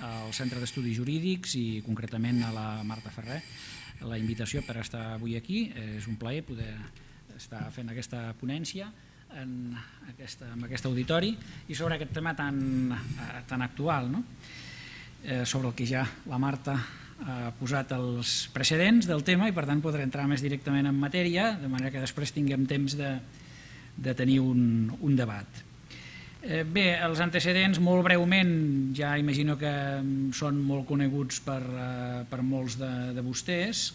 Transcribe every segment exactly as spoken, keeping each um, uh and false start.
al Centre d'Estudis Jurídics i concretament a la Marta Ferrer la invitació per estar avui aquí. És un plaer poder estar fent aquesta ponència en aquest auditori i sobre aquest tema tan actual, sobre el que ja la Marta ha posat els precedents del tema i per tant podrà entrar més directament en matèria, de manera que després tinguem temps de tenir un debat. Bé, els antecedents molt breument ja imagino que són molt coneguts per molts de vostès.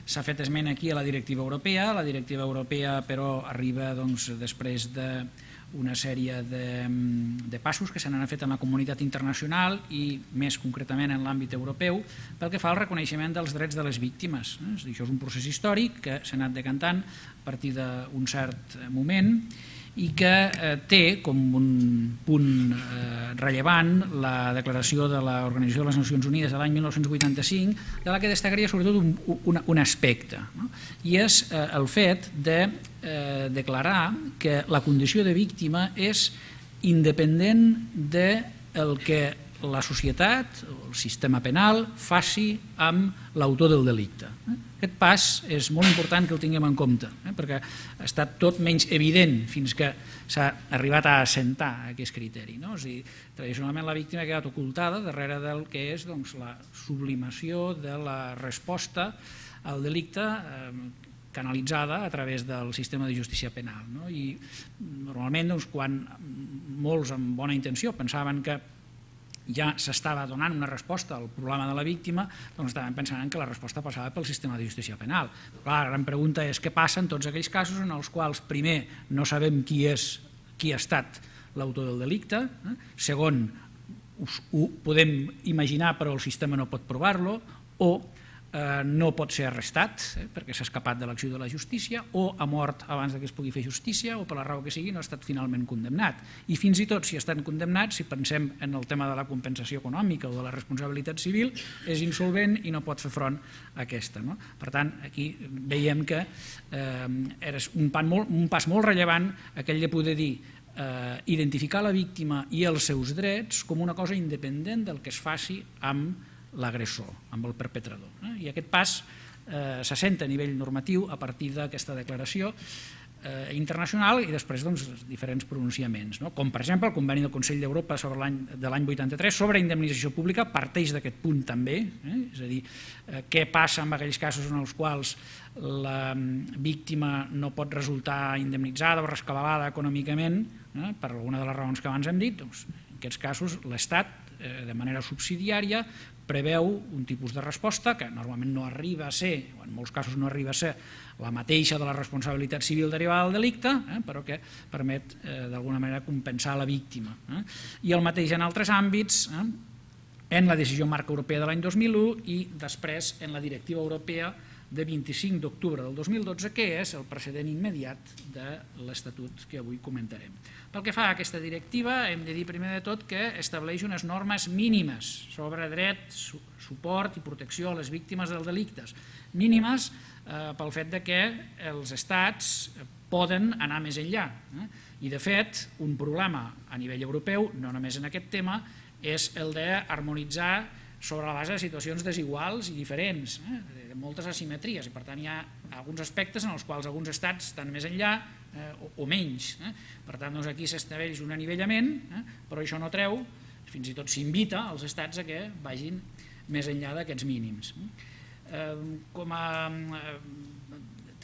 S'ha fet esment aquí a la directiva europea. La directiva europea però arriba després d'una sèrie de passos que s'han fet en la comunitat internacional i més concretament en l'àmbit europeu pel que fa al reconeixement dels drets de les víctimes. Això és un procés històric que s'ha anat decantant a partir d'un cert moment i que té com un punt rellevant la declaració de l'Organització de les Nacions Unides de l'any mil nou-cents vuitanta-cinc, de la que destacaria sobretot un aspecte, i és el fet de declarar que la condició de víctima és independent del que la societat o el sistema penal faci amb l'autor del delicte. Aquest pas és molt important que el tinguem en compte, perquè ha estat tot menys evident fins que s'ha arribat a assentar aquest criteri. Tradicionalment la víctima ha quedat ocultada darrere del que és la sublimació de la resposta al delicte canalitzada a través del sistema de justícia penal. I normalment quan molts amb bona intenció pensaven que ja s'estava donant una resposta al problema de la víctima, doncs estaven pensant que la resposta passava pel sistema de justícia penal. La gran pregunta és què passa en tots aquells casos en els quals, primer, no sabem qui és, qui ha estat l'autor del delicte, segon, ho podem imaginar però el sistema no pot provar-lo, o no pot ser arrestat perquè s'ha escapat de l'acció de la justícia, o ha mort abans que es pugui fer justícia, o per la raó que sigui no ha estat finalment condemnat. I fins i tot si estan condemnats, si pensem en el tema de la compensació econòmica o de la responsabilitat civil, és insolvent i no pot fer front a aquesta. Per tant, aquí veiem que és un pas molt rellevant aquell de poder dir identificar la víctima i els seus drets com una cosa independent del que es faci amb l'agressor, amb el perpetrador. I aquest pas s'assenta a nivell normatiu a partir d'aquesta declaració internacional i després diferents pronunciaments, com per exemple el Conveni del Consell d'Europa de l'any vuitanta-tres sobre indemnització pública parteix d'aquest punt també, és a dir, què passa en aquells casos en els quals la víctima no pot resultar indemnitzada o rescabalada econòmicament per alguna de les raons que abans hem dit. En aquests casos l'Estat, de manera subsidiària, preveu un tipus de resposta que normalment no arriba a ser, o en molts casos no arriba a ser, la mateixa de la responsabilitat civil derivada del delicte, però que permet d'alguna manera compensar la víctima. I el mateix en altres àmbits, en la decisió marc europea de l'any dos mil u i després en la directiva europea de vint-i-cinc d'octubre del dos mil dotze, que és el precedent immediat de l'Estatut que avui comentarem. Pel que fa a aquesta directiva, hem de dir primer de tot que estableix unes normes mínimes sobre dret, suport i protecció a les víctimes dels delictes. Mínimes pel fet que els estats poden anar més enllà. I, de fet, un problema a nivell europeu, no només en aquest tema, és el d'harmonitzar sobre la base de situacions desiguals i diferents, de moltes asimetries, i per tant hi ha alguns aspectes en els quals alguns estats estan més enllà o menys. Per tant, aquí s'estableix un anivellament, però això no treu, fins i tot s'invita als estats a que vagin més enllà d'aquests mínims.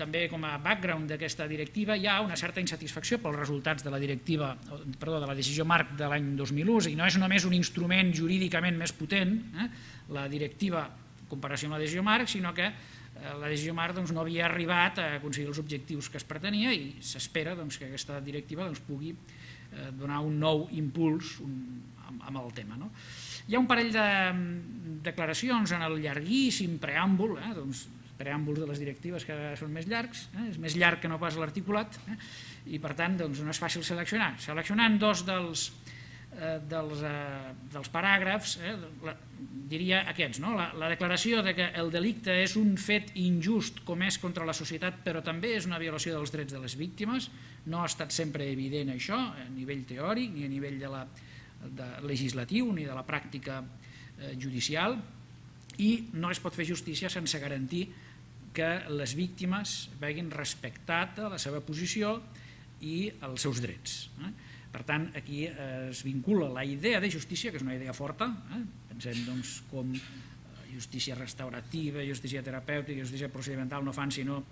També com a background d'aquesta directiva hi ha una certa insatisfacció pels resultats de la directiva, perdó, de la decisió marc de l'any dos mil u, i no és només un instrument jurídicament més potent, la directiva en comparació amb la decisió marc, sinó que la decisió marc no havia arribat a aconseguir els objectius que es pretenia i s'espera que aquesta directiva pugui donar un nou impuls amb el tema. Hi ha un parell de declaracions en el llarguíssim preàmbul, preàmbuls de les directives que són més llargs, és més llarg que no pas l'articulat, i per tant no és fàcil seleccionar. Seleccionant dos dels paràgrafs, diria aquests, la declaració que el delicte és un fet injust comès contra la societat però també és una violació dels drets de les víctimes, no ha estat sempre evident això a nivell teòric ni a nivell legislatiu ni de la pràctica judicial i no es pot fer justícia sense garantir que les víctimes vegin respectada la seva posició i els seus drets. Per tant, aquí es vincula la idea de justícia, que és una idea forta, pensem com justícia restaurativa, justícia terapèutica, justícia procedimental no fan sinó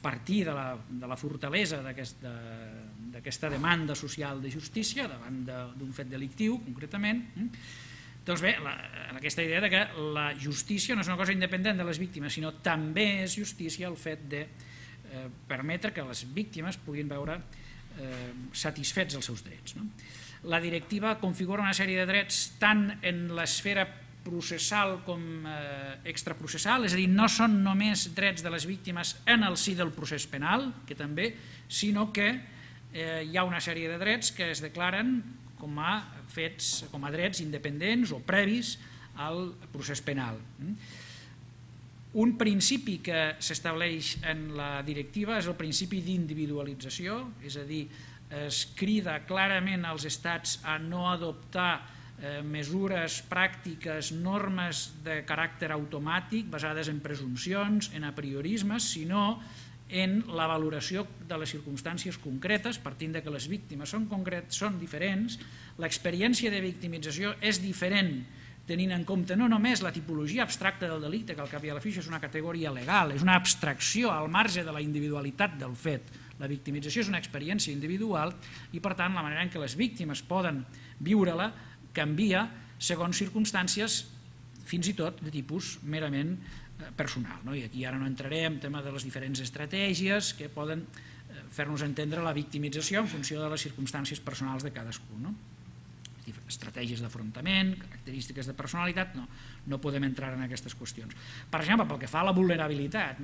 partir de la fortalesa d'aquesta demanda social de justícia davant d'un fet delictiu, concretament. Doncs bé, aquesta idea que la justícia no és una cosa independent de les víctimes, sinó també és justícia el fet de permetre que les víctimes puguin veure satisfets els seus drets. La directiva configura una sèrie de drets tant en l'esfera processal com extraprocessal, és a dir, no són només drets de les víctimes en el si del procés penal, que també, sinó que hi ha una sèrie de drets que es declaren com a fets, com a drets independents o previs al procés penal. Un principi que s'estableix en la directiva és el principi d'individualització, és a dir, es crida clarament als estats a no adoptar mesures, pràctiques, normes de caràcter automàtic basades en presumpcions, en apriorismes, sinó en la valoració de les circumstàncies concretes, partint que les víctimes són concretes, són diferents, l'experiència de victimització és diferent tenint en compte no només la tipologia abstracta del delicte, que al cap i a la fi és una categoria legal, és una abstracció al marge de la individualitat del fet. La victimització és una experiència individual i, per tant, la manera en què les víctimes poden viure-la canvia segons circumstàncies, fins i tot de tipus merament personal. I aquí ara no entraré en el tema de les diferents estratègies que poden fer-nos entendre la victimització en funció de les circumstàncies personals de cadascú. Estratègies d'afrontament, característiques de personalitat, no podem entrar en aquestes qüestions. Per exemple, pel que fa a la vulnerabilitat,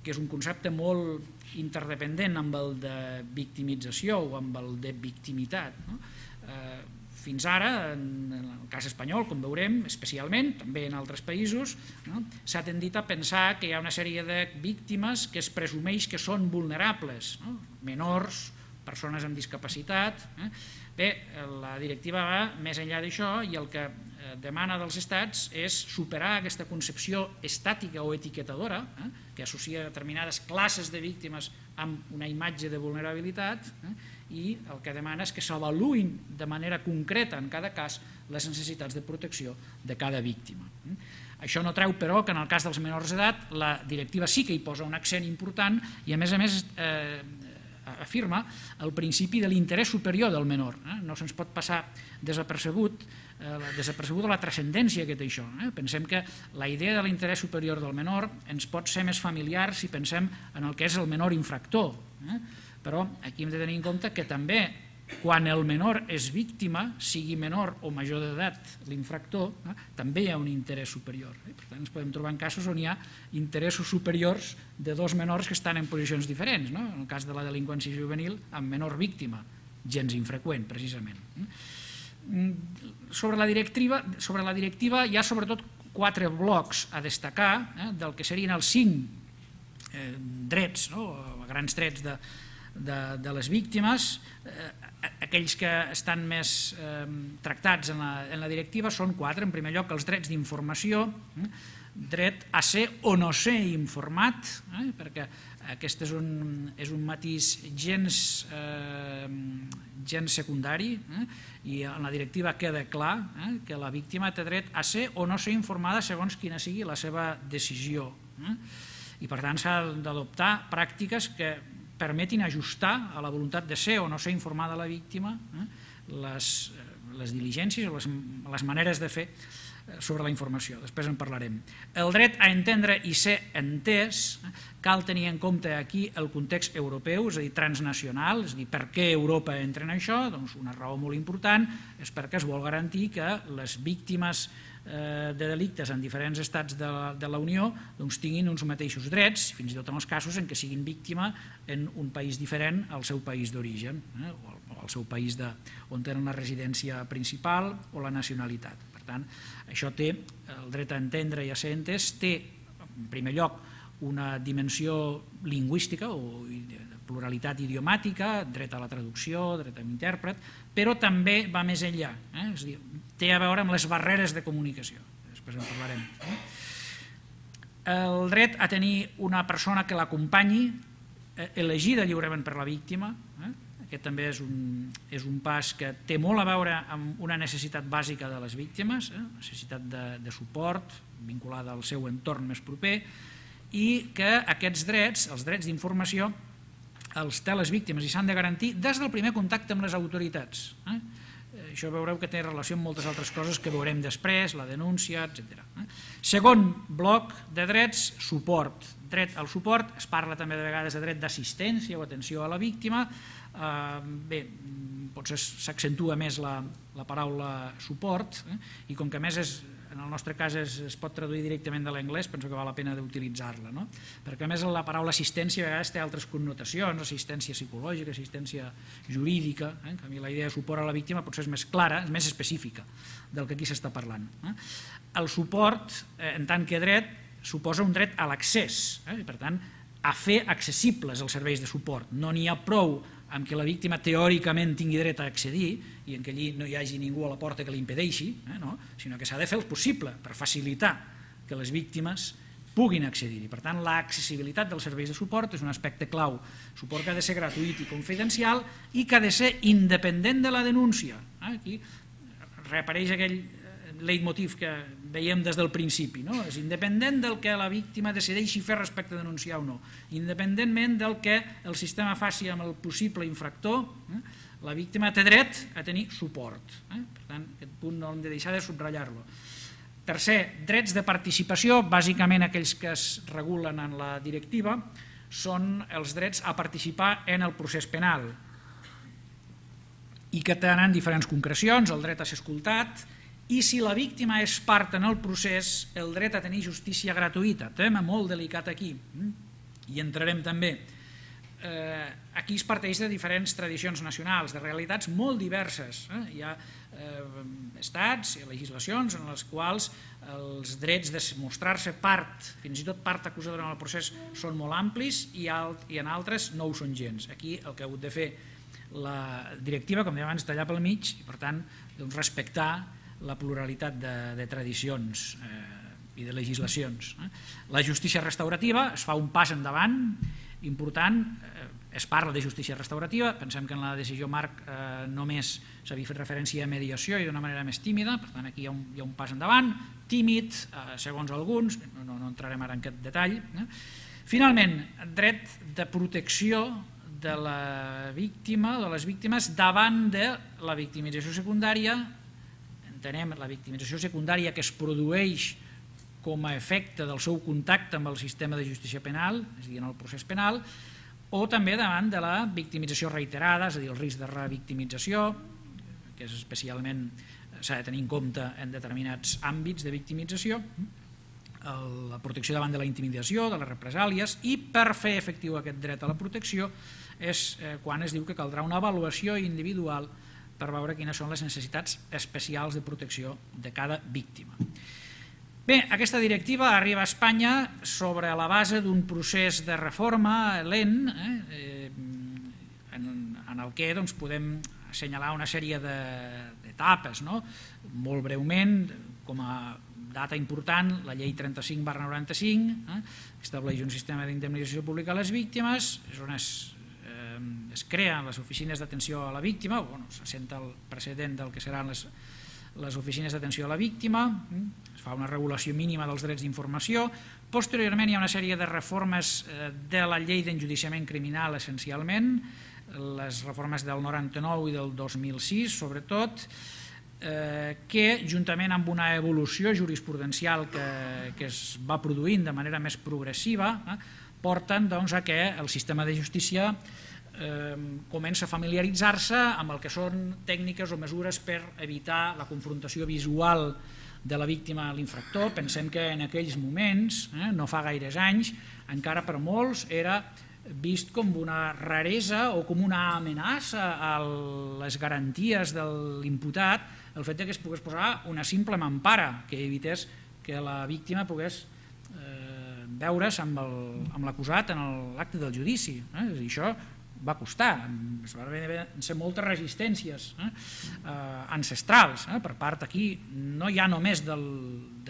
que és un concepte molt interdependent amb el de victimització o amb el de victimitat. Fins ara, en el cas espanyol, com veurem, especialment, també en altres països, s'ha tendit a pensar que hi ha una sèrie de víctimes que es presumeix que són vulnerables, menors, persones amb discapacitat. Bé, la directiva va més enllà d'això i el que demana dels estats és superar aquesta concepció estàtica o etiquetadora que associa determinades classes de víctimes amb una imatge de vulnerabilitat i el que demana és que s'avaluïn de manera concreta en cada cas les necessitats de protecció de cada víctima. Això no treu, però, que en el cas dels menors d'edat la directiva sí que hi posa un accent important i, a més a més, afirma el principi de l'interès superior del menor. No se'ns pot passar desapercebut desapercebuda la transcendència que té això. Pensem que la idea de l'interès superior del menor ens pot ser més familiar si pensem en el que és el menor infractor, però aquí hem de tenir en compte que també quan el menor és víctima, sigui menor o major d'edat l'infractor, també hi ha un interès superior. Per tant, ens podem trobar en casos on hi ha interessos superiors de dos menors que estan en posicions diferents. En el cas de la delinqüència juvenil, amb menor víctima, gens infreqüent, precisament. Sobre la directiva hi ha sobretot quatre blocs a destacar del que serien els cinc drets, grans drets de les víctimes. Aquells que estan més tractats en la directiva són quatre. En primer lloc, els drets d'informació, dret a ser o no ser informat, perquè aquest és un matís gens secundari i en la directiva queda clar que la víctima té dret a ser o no ser informada segons quina sigui la seva decisió. I per tant s'ha d'adoptar pràctiques que permetin ajustar a la voluntat de ser o no ser informada la víctima les diligències o les maneres de fer sobre la informació. Després en parlarem. El dret a entendre i ser entès, cal tenir en compte aquí el context europeu, és a dir, transnacional, és a dir, per què Europa entra en això? Doncs una raó molt important és perquè es vol garantir que les víctimes de delictes en diferents estats de la Unió tinguin uns mateixos drets, fins i tot en els casos en què siguin víctima en un país diferent al seu país d'origen o al seu país on tenen la residència principal o la nacionalitat. Per tant, això té, el dret a entendre i a ser entès, té, en primer lloc, una dimensió lingüística o pluralitat idiomàtica, dret a la traducció, dret a l'intèrpret, però també va més enllà, eh? És a dir, té a veure amb les barreres de comunicació, després en parlarem. Eh? El dret a tenir una persona que l'acompanyi, eh, elegida lliurement per la víctima, eh? Aquest també és un, és un pas que té molt a veure amb una necessitat bàsica de les víctimes, eh? Necessitat de, de suport vinculada al seu entorn més proper, i que aquests drets, els drets d'informació, els té les víctimes i s'han de garantir des del primer contacte amb les autoritats. Eh? Això veureu que té relació amb moltes altres coses que veurem després, la denúncia, etcètera. Segon bloc de drets, suport. Dret al suport, es parla també de vegades de dret d'assistència o atenció a la víctima. Bé, potser s'accentua més la, la paraula suport, eh? I com que a més és, en el nostre cas es, es pot traduir directament de l'anglès, penso que val la pena d'utilitzar-la, no? Perquè a més la paraula assistència a vegades té altres connotacions, assistència psicològica, assistència jurídica, eh? En canvi la idea de suport a la víctima potser és més clara, és més específica del que aquí s'està parlant. Eh? El suport, eh, en tant que dret, suposa un dret a l'accés, eh? Per tant, a fer accessibles els serveis de suport. No n'hi ha prou amb que la víctima teòricament tingui dret a accedir i en què allí no hi hagi ningú a la porta que l'impedeixi, eh, no? Sinó que s'ha de fer el possible per facilitar que les víctimes puguin accedir-hi. Per tant, l'accessibilitat dels serveis de suport és un aspecte clau. Suport que ha de ser gratuït i confidencial i que ha de ser independent de la denúncia. Eh? Aquí reapareix aquell leitmotiv que veiem des del principi, no? És independent del que la víctima decideixi fer respecte a denunciar o no, independentment del que el sistema faci amb el possible infractor, eh? La víctima té dret a tenir suport. Eh? Per tant, aquest punt no hem de deixar de subratllar-lo. Tercer, drets de participació, bàsicament aquells que es regulen en la directiva, són els drets a participar en el procés penal i que tenen diferents concrecions, el dret a ser escoltat, i si la víctima és part en el procés, el dret a tenir justícia gratuïta, tema molt delicat aquí, i entrarem també. Aquí es parteix de diferents tradicions nacionals, de realitats molt diverses. Hi ha estats i legislacions en les quals els drets de mostrar-se part, fins i tot part acusadora en el procés, són molt amplis i en altres no ho són gens. Aquí el que ha hagut de fer la directiva, com dèiem abans, tallar pel mig i per tant respectar la pluralitat de, de tradicions eh, i de legislacions. Eh. La justícia restaurativa es fa un pas endavant important, eh, es parla de justícia restaurativa, pensem que en la decisió marc eh, només s'havia fet referència a mediació i d'una manera més tímida, per tant aquí hi ha un, hi ha un pas endavant, tímid, eh, segons alguns, no, no, no entrarem ara en aquest detall. Eh. Finalment, dret de protecció de la víctima, de les víctimes, davant de la victimització secundària. Entenem la victimització secundària que es produeix com a efecte del seu contacte amb el sistema de justícia penal, és a dir, en el procés penal, o també davant de la victimització reiterada, és a dir, el risc de revictimització, que és especialment s'ha de tenir en compte en determinats àmbits de victimització, la protecció davant de la intimidació, de les represàlies, i per fer efectiu aquest dret a la protecció és quan es diu que caldrà una avaluació individual per veure quines són les necessitats especials de protecció de cada víctima. Bé, aquesta directiva arriba a Espanya sobre la base d'un procés de reforma lent, eh, en el que doncs, podem assenyalar una sèrie d'etapes. No? Molt breument, com a data important, la llei trenta-cinc barra noranta-cinc, eh, estableix un sistema d'indemnització pública a les víctimes, és on es es creen les oficines d'atenció a la víctima, bueno, s'assenta el precedent del que seran les, les oficines d'atenció a la víctima, es fa una regulació mínima dels drets d'informació, posteriorment hi ha una sèrie de reformes de la llei d'enjudiciament criminal essencialment, les reformes del noranta-nou i del dos mil sis sobretot, eh, que juntament amb una evolució jurisprudencial que, que es va produint de manera més progressiva, eh, porten doncs, a que el sistema de justícia comença a familiaritzar-se amb el que són tècniques o mesures per evitar la confrontació visual de la víctima a l'infractor. Pensem que en aquells moments, eh, no fa gaires anys, encara per molts era vist com una raresa o com una amenaça a les garanties de l'imputat el fet que es pogués posar una simple mampara que evités que la víctima pogués veure's amb l'acusat en l'acte del judici. Això va costar, van ser moltes resistències ancestrals per part aquí, no ja només de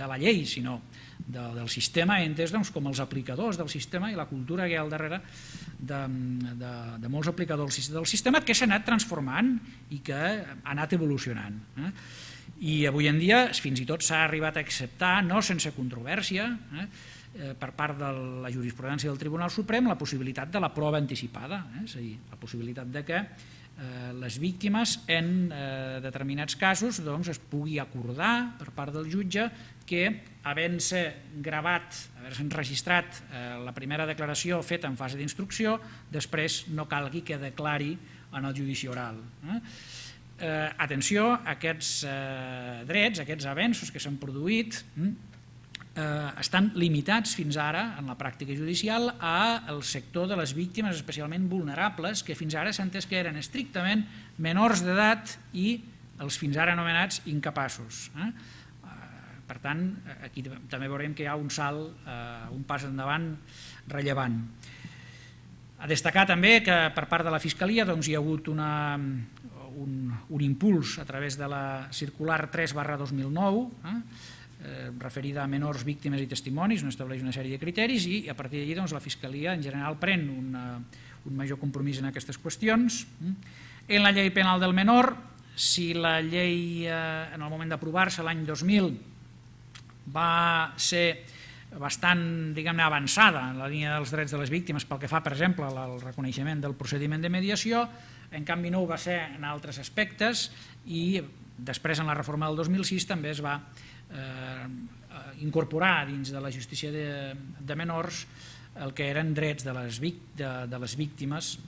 la llei, sinó del sistema entès com els aplicadors del sistema i la cultura que hi ha al darrere de molts aplicadors del sistema que s'ha anat transformant i que ha anat evolucionant. I avui en dia fins i tot s'ha arribat a acceptar, no sense controvèrsia, per part de la jurisprudència del Tribunal Suprem, la possibilitat de la prova anticipada, és a dir, la possibilitat de que les víctimes en determinats casos es pugui acordar per part del jutge que havent-se gravat, haver-se enregistrat la primera declaració feta en fase d'instrucció, després no calgui que declari en el judici oral. Atenció, aquests drets, aquests avenços que s'han produït estan limitats fins ara en la pràctica judicial al sector de les víctimes especialment vulnerables que fins ara s'ha entès que eren estrictament menors d'edat i els fins ara anomenats incapaços. Per tant, aquí també veurem que hi ha un salt, un pas endavant rellevant. A destacar també que per part de la Fiscalia hi ha hagut un impuls a través de la circular tres barra dos mil nou, referida a menors, víctimes i testimonis, on estableix una sèrie de criteris i a partir d'allí la Fiscalia en general pren un major compromís en aquestes qüestions. En la llei penal del menor, si la llei en el moment d'aprovar-se l'any dos mil va ser bastant avançada en la línia dels drets de les víctimes pel que fa, per exemple, al reconeixement del procediment de mediació, en canvi no ho va ser en altres aspectes i després en la reforma del dos mil sis també es va incorporar dins de la justícia de menors el que eren drets de les víctimes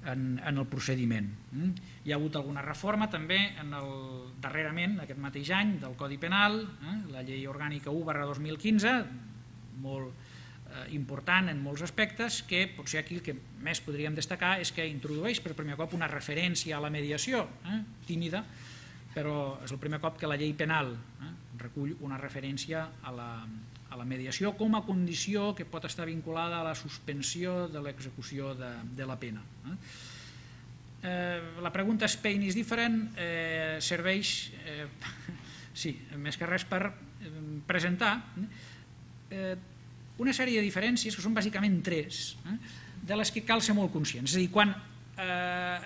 en el procediment. Hi ha hagut alguna reforma també darrerament, aquest mateix any, del Codi Penal, la llei orgànica u barra dos mil quinze, molt important en molts aspectes, que potser aquí el que més podríem destacar és que introdueix per primer cop una referència a la mediació, tímida, però és el primer cop que la llei penal recull una referència a la mediació com a condició que pot estar vinculada a la suspensió de l'execució de la pena. La pregunta és Spain is different serveix, sí, més que res per presentar una sèrie de diferències que són bàsicament tres, de les que cal ser molt conscients. És a dir, quan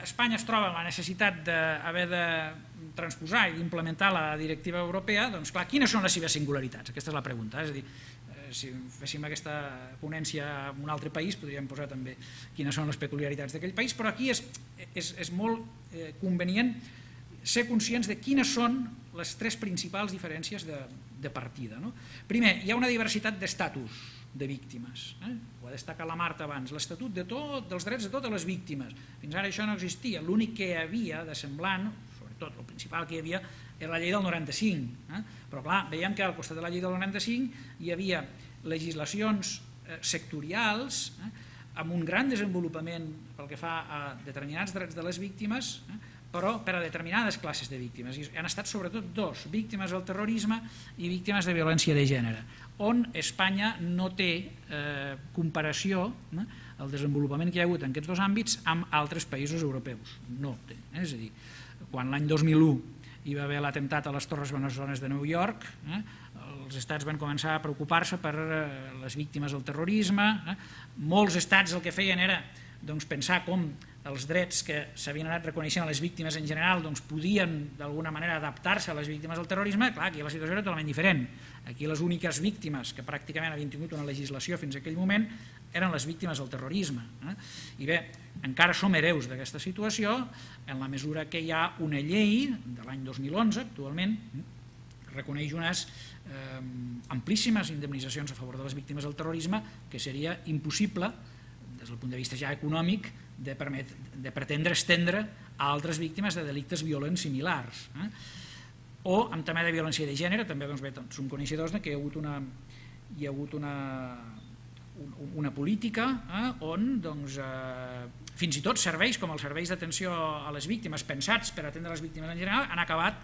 Espanya es troba amb la necessitat d'haver de transposar i d'implementar la directiva europea, doncs clar, quines són les seves singularitats? Aquesta és la pregunta. És a dir, si féssim aquesta ponència en un altre país podríem posar també quines són les peculiaritats d'aquell país, però aquí és molt convenient ser conscients de quines són les tres principals diferències de partida. Primer, hi ha una diversitat d'estatus de víctimes. Ho ha destacat la Marta abans, l'estatut dels drets de totes les víctimes. Fins ara això no existia. L'únic que hi havia de semblant, sobretot el principal que hi havia, era la llei del noranta-cinc. Però clar, veiem que al costat de la llei del noranta-cinc hi havia legislacions sectorials amb un gran desenvolupament pel que fa a determinats drets de les víctimes, però per a determinades classes de víctimes. I han estat sobretot dos, víctimes del terrorisme i víctimes de violència de gènere, on Espanya no té comparació, el desenvolupament que hi ha hagut en aquests dos àmbits, amb altres països europeus. No té. És a dir, quan l'any dos mil u hi va haver l'atemptat a les Torres Bessones de Nova York, els estats van començar a preocupar-se per les víctimes del terrorisme. Molts estats el que feien era pensar com els drets que s'havien anat reconeixent a les víctimes en general podien d'alguna manera adaptar-se a les víctimes del terrorisme. Clar, aquí la situació era totalment diferent. Aquí les úniques víctimes que pràcticament havien tingut una legislació fins a aquell moment eren les víctimes del terrorisme. I bé, encara som hereus d'aquesta situació en la mesura que hi ha una llei de l'any dos mil onze, actualment, que reconeix unes amplíssimes indemnitzacions a favor de les víctimes del terrorisme que seria impossible des del punt de vista ja econòmic de pretendre estendre a altres víctimes de delictes violents similars. O en tema de violència de gènere, també som coneixedors que hi ha hagut una política on fins i tot serveis com els serveis d'atenció a les víctimes pensats per atendre les víctimes en general han acabat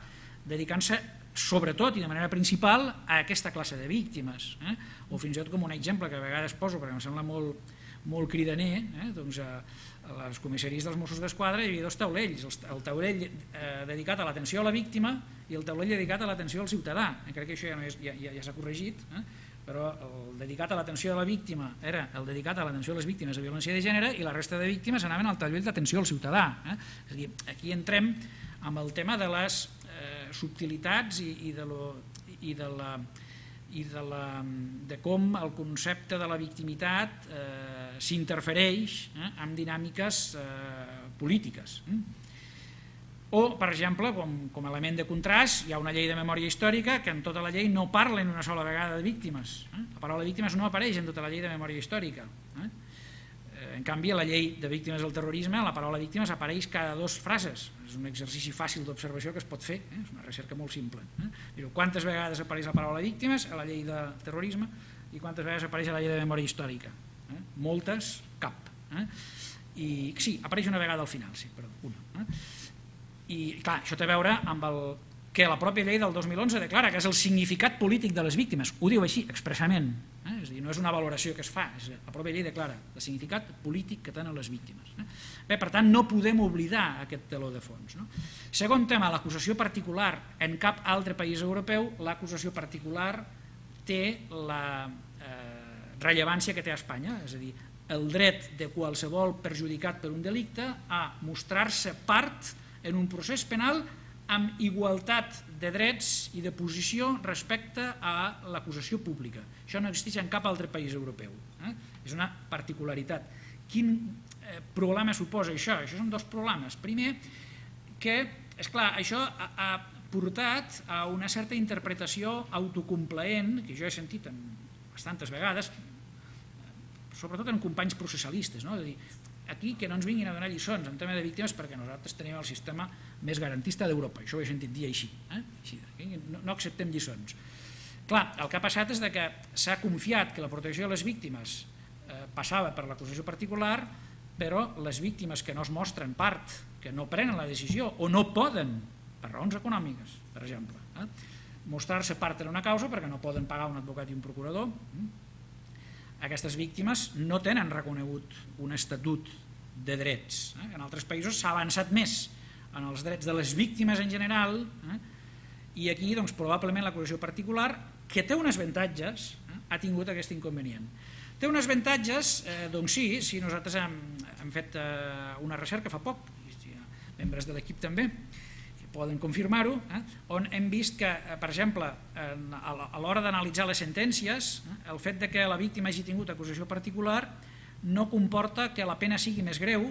dedicant-se sobretot i de manera principal a aquesta classe de víctimes, eh? O fins i tot com un exemple que a vegades poso perquè em sembla molt, molt cridaner, eh? Doncs a, a les comissaries dels Mossos d'Esquadra hi havia dos taulells, el taulell eh, dedicat a l'atenció a la víctima i el taulell dedicat a l'atenció al ciutadà. Crec que això ja, no és, ja, ja, ja s'ha corregit, eh? Però el dedicat a l'atenció a la víctima era el dedicat a l'atenció a les víctimes de violència de gènere i la resta de víctimes anaven al taulell d'atenció al ciutadà, eh? És a dir, aquí entrem amb el tema de les eh, subtilitats i, i, de lo, i, de la, i de, la, de com el concepte de la victimitat eh, s'interfereix eh, amb dinàmiques eh, polítiques. Eh? O, per exemple, com, com a element de contrast, hi ha una llei de memòria històrica que en tota la llei no parla en una sola vegada de víctimes. Eh? La paraula víctimes no apareix en tota la llei de memòria històrica. Eh? En canvi, a la llei de víctimes del terrorisme la paraula víctimes apareix cada dues frases. És un exercici fàcil d'observació que es pot fer, eh? És una recerca molt simple. Eh? Però quantes vegades apareix la paraula víctimes a la llei de terrorisme i quantes vegades apareix a la llei de memòria històrica? Eh? Moltes, cap. Eh? I sí, apareix una vegada al final, sí, perdó, una. Eh? I clar, això té a veure amb el que la pròpia llei del dos mil onze declara, que és el significat polític de les víctimes. Ho diu així, expressament. Eh? És a dir, no és una valoració que es fa, és la pròpia llei declara el significat polític que tenen les víctimes. Eh? Bé, per tant, no podem oblidar aquest teló de fons. No? Segon tema, l'acusació particular. En cap altre país europeu l'acusació particular té la eh, rellevància que té a Espanya, és a dir, el dret de qualsevol perjudicat per un delicte a mostrar-se part en un procés penal amb igualtat de drets i de posició respecte a l'acusació pública. Això no existeix en cap altre país europeu. Eh? És una particularitat. Quin eh, problema suposa això? Això són dos problemes. Primer, que, esclar, això ha, ha portat a una certa interpretació autocomplaent, que jo he sentit en bastantes vegades, sobretot en companys processalistes, no? És a dir, aquí que no ens vinguin a donar lliçons en tema de víctimes perquè nosaltres tenim el sistema més garantista d'Europa, això ho he sentit dir així, eh? així no, no acceptem lliçons. Clar, el que ha passat és que s'ha confiat que la protecció de les víctimes eh, passava per l'acusació particular, però les víctimes que no es mostren part, que no prenen la decisió o no poden, per raons econòmiques, per exemple, eh? mostrar-se part en una causa perquè no poden pagar un advocat i un procurador, eh? Aquestes víctimes no tenen reconegut un estatut de drets. Eh? En altres països s'ha avançat més en els drets de les víctimes en general, eh? I aquí doncs, probablement l'acusació particular, que té uns avantatges, eh? ha tingut aquest inconvenient. Té uns avantatges, eh, doncs sí, si nosaltres hem, hem fet eh, una recerca fa poc, i membres de l'equip també, poden confirmar-ho, eh? on hem vist que, per exemple, a l'hora d'analitzar les sentències, eh? el fet de que la víctima hagi tingut acusació particular no comporta que la pena sigui més greu,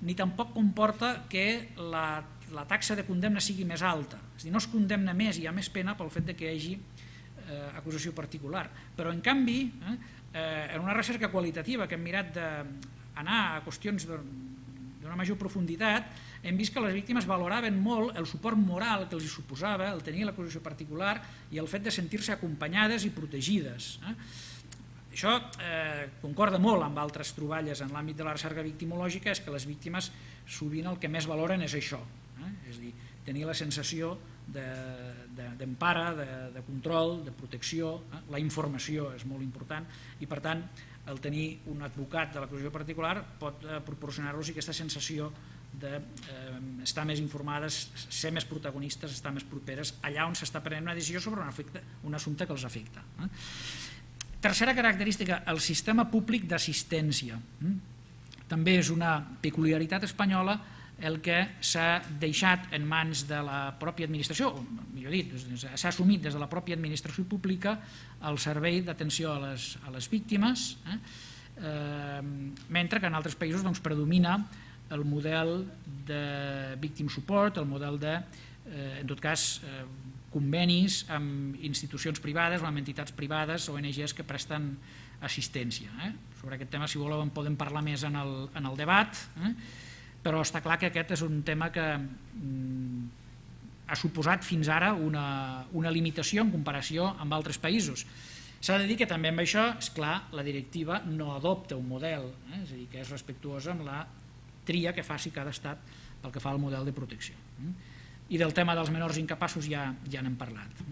ni tampoc comporta que la, la taxa de condemna sigui més alta. És a dir, no es condemna més i hi ha més pena pel fet de que hi hagi eh, acusació particular. Però, en canvi, eh, en una recerca qualitativa que hem mirat d'anar a qüestions d'una major profunditat, hem vist que les víctimes valoraven molt el suport moral que els suposava el tenir l'acusació particular i el fet de sentir-se acompanyades i protegides. Eh? Això eh, concorda molt amb altres troballes en l'àmbit de la recerca victimològica, és que les víctimes sovint el que més valoren és això, eh? És a dir, tenir la sensació d'empara, de, de, de control, de protecció, eh? La informació és molt important i, per tant, el tenir un advocat de l'acusació particular pot eh, proporcionar-los aquesta sensació d'estar eh, més informades, ser més protagonistes, estar més properes allà on s'està prenent una decisió sobre un, efecte, un assumpte que els afecta. Eh? Tercera característica, el sistema públic d'assistència. Eh? També és una peculiaritat espanyola el que s'ha deixat en mans de la pròpia administració, o millor dit, s'ha assumit des de la pròpia administració pública el servei d'atenció a, les, a les víctimes, eh? Eh, mentre que en altres països doncs, predomina el model de victim support, el model de, eh, en tot cas, eh, convenis amb institucions privades o amb entitats privades, O N Ges que presten assistència. Eh? Sobre aquest tema, si voleu, en podem parlar més en el, en el debat, eh? Però està clar que aquest és un tema que mm, ha suposat fins ara una, una limitació en comparació amb altres països. S'ha de dir que també amb això, és clar, la directiva no adopta un model, eh? És a dir, que és respectuosa amb la tria que faci cada estat pel que fa al model de protecció. i del tema dels menors incapaços ja n'hem parlat.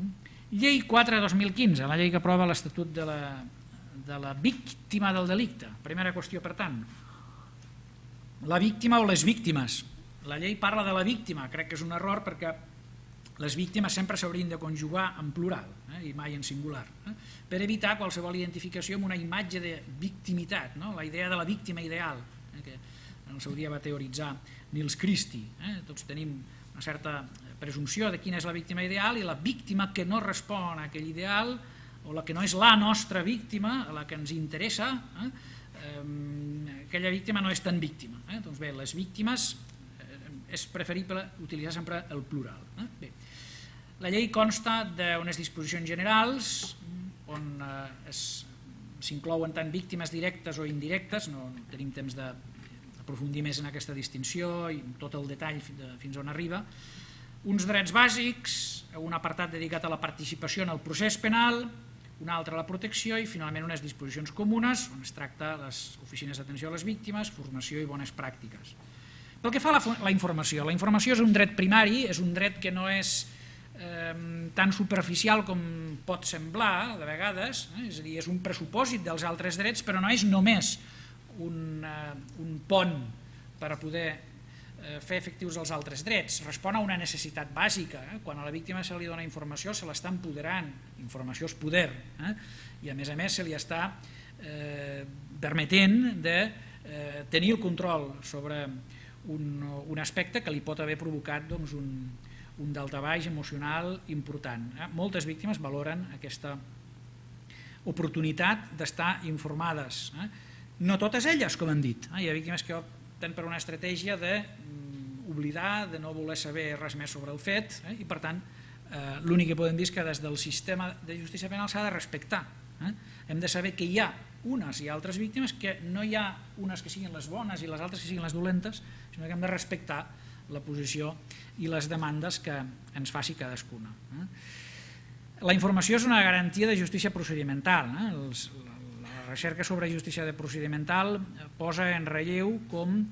Llei quatre dos mil quinze, la llei que aprova l'Estatut de la víctima del delicte. Primera qüestió, per tant, la víctima o les víctimes. La llei parla de la víctima, crec que és un error perquè les víctimes sempre s'haurien de conjugar en plural i mai en singular, per evitar qualsevol identificació amb una imatge de victimitat, la idea de la víctima ideal, que en el seu dia va teoritzar Nils Christie. Tots tenim una certa presumpció de quina és la víctima ideal i la víctima que no respon a aquell ideal o la que no és la nostra víctima, la que ens interessa, aquella víctima no és tan víctima. Doncs bé, les víctimes és preferible utilitzar sempre el plural. Bé, la llei consta d'unes disposicions generals on s'inclouen tant víctimes directes o indirectes, no tenim temps d'aprofundir més en aquesta distinció i tot el detall fins on arriba, uns drets bàsics, un apartat dedicat a la participació en el procés penal, un altre a la protecció i finalment unes disposicions comunes on es tracta les oficines d'atenció a les víctimes, formació i bones pràctiques. Pel que fa a la informació, la informació és un dret primari, és un dret que no és tan superficial com pot semblar de vegades, és a dir, és un pressupòsit dels altres drets, però no és només un pont per a poder fer efectius els altres drets, respon a una necessitat bàsica. Quan a la víctima se li dona informació se l'està empoderant, informació és poder, i a més a més se li està permetent de tenir el control sobre un aspecte que li pot haver provocat un daltabaix emocional important. Moltes víctimes valoren aquesta oportunitat d'estar informades. No totes elles, com hem dit. Hi ha víctimes que opten per una estratègia d'oblidar, de no voler saber res més sobre el fet, i per tant l'únic que podem dir és que des del sistema de justícia penal s'ha de respectar. Hem de saber que hi ha unes i altres víctimes, que no hi ha unes que siguin les bones i les altres que siguin les dolentes, sinó que hem de respectar la posició i les demandes que ens faci cadascuna. La informació és una garantia de justícia procedimental. La recerca sobre justícia procedimental posa en relleu com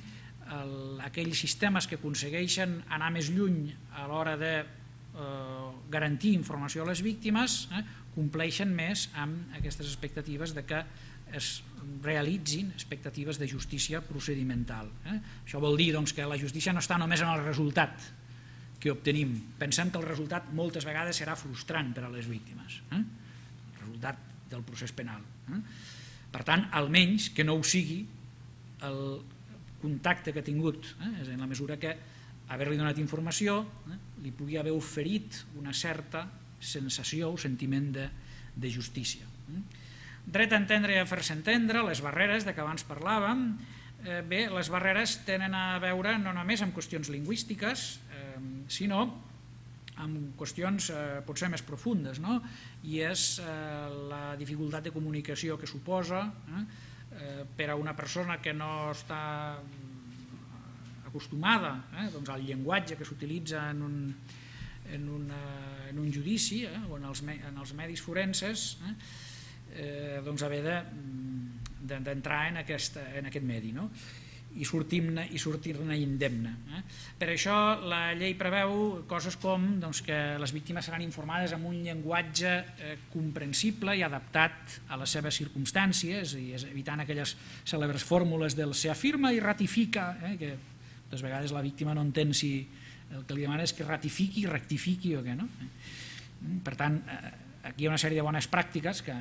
aquells sistemes que aconsegueixen anar més lluny a l'hora de garantir informació a les víctimes compleixen més amb aquestes expectatives de que es realitzin expectatives de justícia procedimental. Això vol dir que la justícia no està només en el resultat que obtenim. Pensem que el resultat moltes vegades serà frustrant per a les víctimes, el resultat del procés penal. Per tant, almenys que no ho sigui el contacte que ha tingut, en la mesura que haver-li donat informació li pugui haver oferit una certa sensació o sentiment de justícia. Dret a entendre i a fer-se entendre, les barreres de què abans parlàvem, bé, les barreres tenen a veure no només amb qüestions lingüístiques, sinó amb qüestions potser més profundes, i és la dificultat de comunicació que suposa per a una persona que no està acostumada al llenguatge que s'utilitza en un judici o en els medis forenses, haver d'entrar en aquest medi i sortir-ne indemne. Per això la llei preveu coses com que les víctimes seran informades amb un llenguatge comprensible i adaptat a les seves circumstàncies, evitant aquelles cèlebres fórmules del se afirma i ratifica, que moltes vegades la víctima no entén si el que li demana és que ratifiqui, rectifiqui o què. Per tant, aquí hi ha una sèrie de bones pràctiques que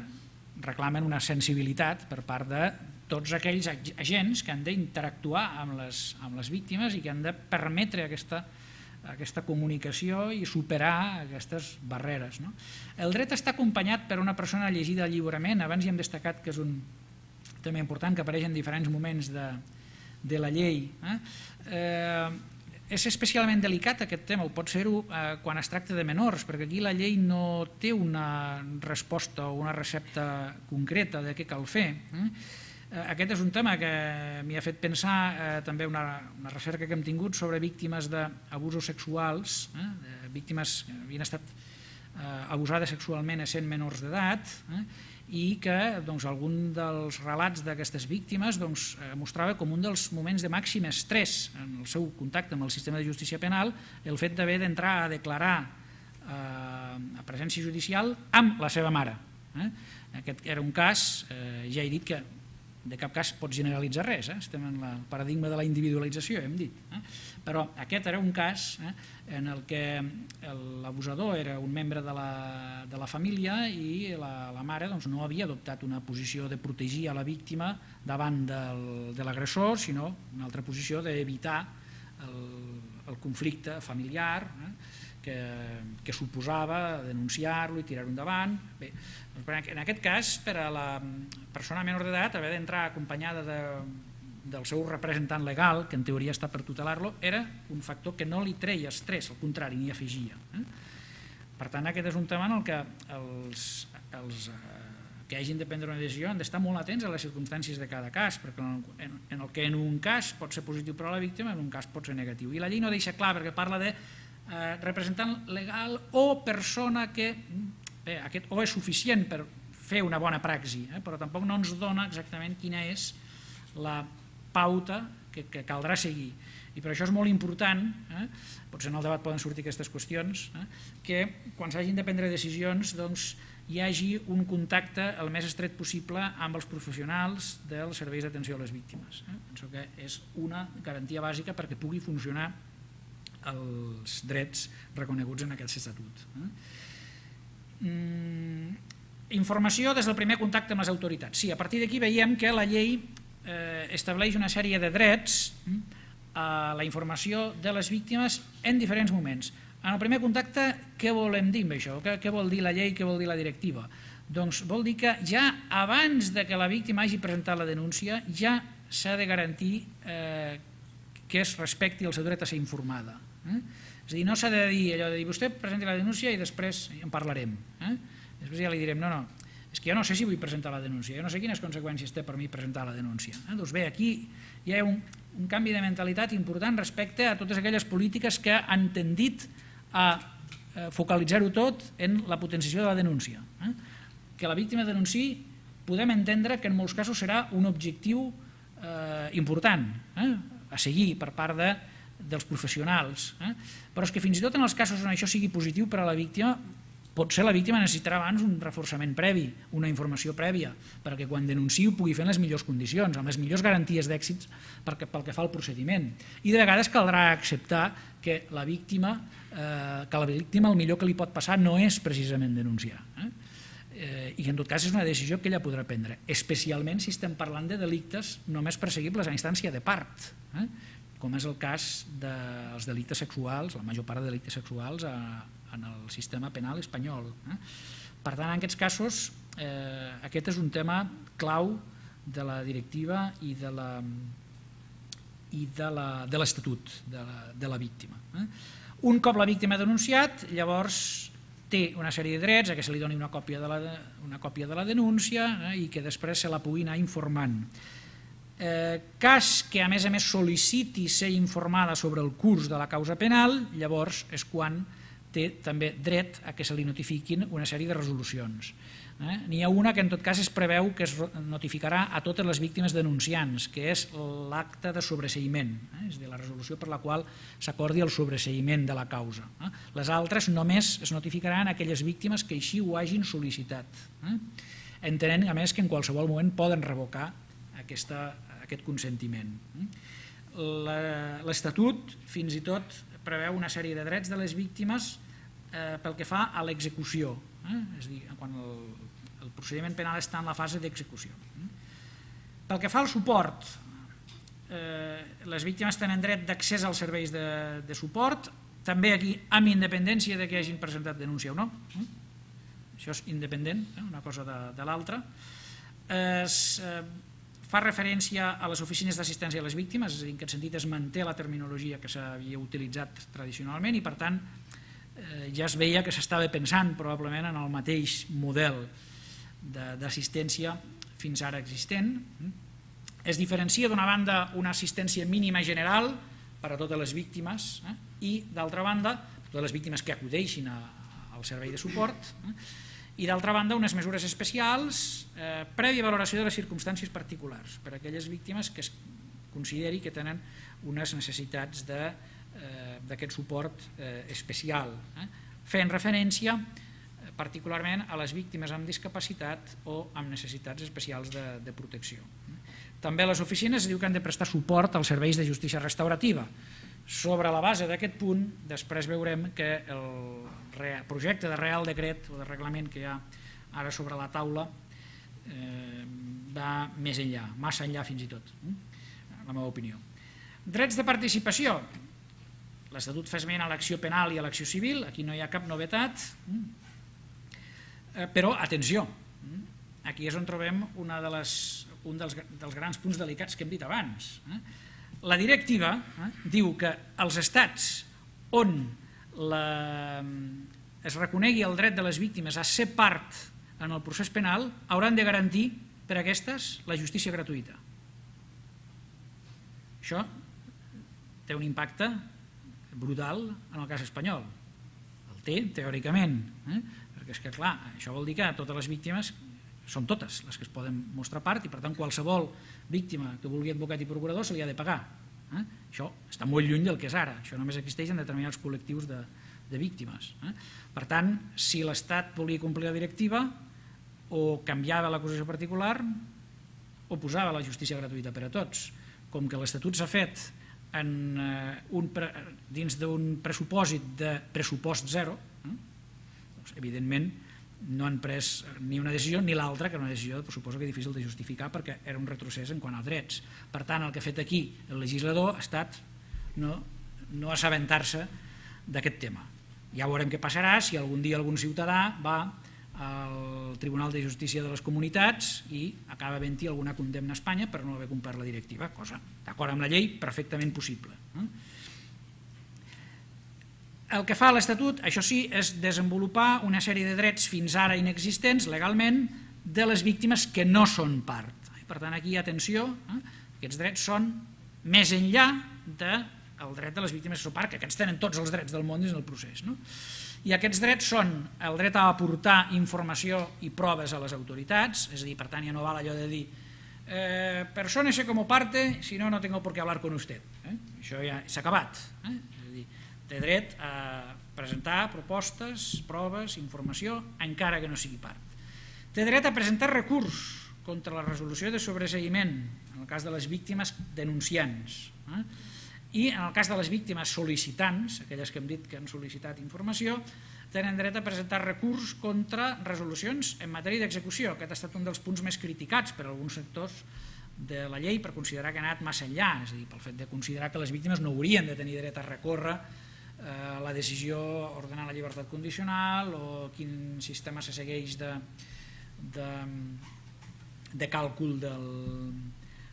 reclamen una sensibilitat per part de tots aquells agents que han d'interactuar amb les víctimes i que han de permetre aquesta comunicació i superar aquestes barreres. El dret està acompanyat per una persona llegida lliurement. Abans hi hem destacat que és un tema important que apareix en diferents moments de la llei. És especialment delicat aquest tema, o pot ser-ho quan es tracta de menors, perquè aquí la llei no té una resposta o una recepta concreta de què cal fer. Aquest és un tema que m'hi ha fet pensar també una recerca que hem tingut sobre víctimes d'abusos sexuals, víctimes que havien estat abusades sexualment essent menors d'edat i que algun dels relats d'aquestes víctimes mostrava com un dels moments de màxim estrès en el seu contacte amb el sistema de justícia penal el fet d'haver d'entrar a declarar a presència judicial amb la seva mare. Aquest era un cas, ja he dit que de cap cas pot generalitzar res, estem en el paradigma de la individualització, hem dit, però aquest era un cas en el que l'abusador era un membre de la família i la mare no havia adoptat una posició de protegir a la víctima davant de l'agressor, sinó una altra posició d'evitar el conflicte familiar que suposava denunciar-lo i tirar-ho endavant. Bé, en aquest cas, per a la persona menor d'edat, haver d'entrar acompanyada del seu representant legal, que en teoria està per tutelar-lo, era un factor que no li treia estrès, al contrari, n'hi afegia. Per tant, aquest és un tema en el que els que hagin de prendre una decisió han d'estar molt atents a les circumstàncies de cada cas, perquè en el que en un cas pot ser positiu per a la víctima, en un cas pot ser negatiu. I la llei no deixa clar, perquè parla de representant legal o persona que aquest o és suficient per fer una bona praxi, però tampoc no ens dona exactament quina és la pauta que caldrà seguir. I per això és molt important, potser en el debat poden sortir aquestes qüestions, que quan s'hagin de prendre decisions hi hagi un contacte el més estret possible amb els professionals dels serveis d'atenció a les víctimes. Penso que és una garantia bàsica perquè pugui funcionar els drets reconeguts en aquest estatut. Informació des del primer contacte amb les autoritats. Sí, a partir d'aquí veiem que la llei estableix una sèrie de drets a la informació de les víctimes en diferents moments. En el primer contacte, què volem dir amb això? Què vol dir la llei, què vol dir la directiva? Doncs vol dir que ja abans que la víctima hagi presentat la denúncia ja s'ha de garantir que es respecti el seu dret a ser informada. És a dir, no s'ha de dir allò de dir vostè presenti la denúncia i després en parlarem. Després ja li direm, no, no, és que jo no sé si vull presentar la denúncia, jo no sé quines conseqüències té per mi presentar la denúncia. Doncs bé, aquí hi ha un canvi de mentalitat important respecte a totes aquelles polítiques que han tendit a focalitzar-ho tot en la potenciació de la denúncia. Que la víctima denunciï podem entendre que en molts casos serà un objectiu important a seguir per part dels professionals, però és que fins i tot en els casos on això sigui positiu per a la víctima, potser la víctima necessitarà abans un reforçament previ, una informació prèvia, perquè quan denunciï ho pugui fer en les millors condicions, amb les millors garanties d'èxits pel que fa al procediment. I de vegades caldrà acceptar que la víctima, que la víctima el millor que li pot passar no és precisament denunciar. I en tot cas és una decisió que ella podrà prendre, especialment si estem parlant de delictes només perseguibles a instància de part, com és el cas dels delictes sexuals, la major part de delictes sexuals en el sistema penal espanyol. Per tant, en aquests casos, aquest és un tema clau de la directiva i de l'Estatut de la víctima. Un cop la víctima ha denunciat, llavors té una sèrie de drets, que se li doni una còpia de la denúncia i que després se la pugui anar informant. Cas que a més a més sol·liciti ser informada sobre el curs de la causa penal, llavors és quan té també dret a que se li notifiquin una sèrie de resolucions. N'hi ha una que en tot cas es preveu que es notificarà a totes les víctimes denunciants, que és l'acte de sobreseïment, és a dir, la resolució per la qual s'acordi el sobreseïment de la causa. Les altres només es notificaran a aquelles víctimes que així ho hagin sol·licitat, entenent a més que en qualsevol moment poden revocar aquest consentiment. L'Estatut fins i tot preveu una sèrie de drets de les víctimes pel que fa a l'execució, és a dir, quan el procediment penal està en la fase d'execució. Pel que fa al suport, les víctimes tenen dret d'accés als serveis de suport, també aquí amb independència de que hagin presentat denúncia o no. Això és independent, una cosa de l'altra. Es fa referència a les oficines d'assistència a les víctimes, és a dir, en aquest sentit es manté la terminologia que s'havia utilitzat tradicionalment i per tant ja es veia que s'estava pensant probablement en el mateix model d'assistència fins ara existent. Es diferencia d'una banda una assistència mínima general per a totes les víctimes i d'altra banda totes les víctimes que acudeixin al servei de suport i d'altra banda unes mesures especials eh, prèvia valoració de les circumstàncies particulars per a aquelles víctimes que es consideri que tenen unes necessitats d'aquest suport eh, especial, eh, fent referència eh, particularment a les víctimes amb discapacitat o amb necessitats especials de, de protecció. També les oficines diu que han de prestar suport als serveis de justícia restaurativa. Sobre la base d'aquest punt, després veurem que el projecte de Real Decret o de reglament que hi ha ara sobre la taula eh, va més enllà, massa enllà fins i tot, la meva opinió. Drets de participació. L'Estatut fa esment a l'acció penal i a l'acció civil, aquí no hi ha cap novetat, però atenció, aquí és on trobem una de les, un dels, dels grans punts delicats que hem dit abans. La directiva eh, diu que els estats on la, es reconegui el dret de les víctimes a ser part en el procés penal hauran de garantir per a aquestes la justícia gratuïta. Això té un impacte brutal en el cas espanyol. El té, teòricament, eh? perquè és que, clar, això vol dir que totes les víctimes són totes les que es poden mostrar part i, per tant, qualsevol víctima que vulgui advocat i procurador se li ha de pagar. Eh? Això està molt lluny del que és ara. Això només existeix en determinats col·lectius de, de víctimes. Eh? Per tant, si l'Estat volia complir la directiva, o canviava l'acusació particular o posava la justícia gratuïta per a tots. Com que l'Estatut s'ha fet en, eh, un pre, dins d'un pressupòsit de pressupost zero, eh? doncs, evidentment, no han pres ni una decisió ni l'altra, que era una decisió suposo que difícil de justificar perquè era un retrocés en quant a drets. Per tant, el que ha fet aquí el legislador ha estat no, no assabentar-se d'aquest tema. Ja veurem què passarà si algun dia algun ciutadà va al Tribunal de Justícia de les Comunitats i acaba havent-hi alguna condemna a Espanya per no haver complert la directiva, cosa d'acord amb la llei perfectament possible. El que fa l'Estatut, això sí, és desenvolupar una sèrie de drets fins ara inexistents legalment de les víctimes que no són part. Per tant, aquí, atenció, eh? aquests drets són més enllà del dret de les víctimes que són part, que aquests tenen tots els drets del món dins del procés. No? I aquests drets són el dret a aportar informació i proves a les autoritats, és a dir, per tant, ja no val allò de dir eh, persónese como parte, si no, no tengo por qué hablar con usted. Eh? Això ja s'ha acabat. Eh? Té dret a presentar propostes, proves, informació, encara que no sigui part. Té dret a presentar recurs contra la resolució de sobreseïment, en el cas de les víctimes denunciants, eh? i en el cas de les víctimes sol·licitants, aquelles que hem dit que han sol·licitat informació, tenen dret a presentar recurs contra resolucions en matèria d'execució. Aquest ha estat un dels punts més criticats per alguns sectors de la llei per considerar que ha anat massa enllà, és a dir, pel fet de considerar que les víctimes no haurien de tenir dret a recórrer la decisió ordenar la llibertat condicional o quin sistema se segueix de, de, de càlcul del,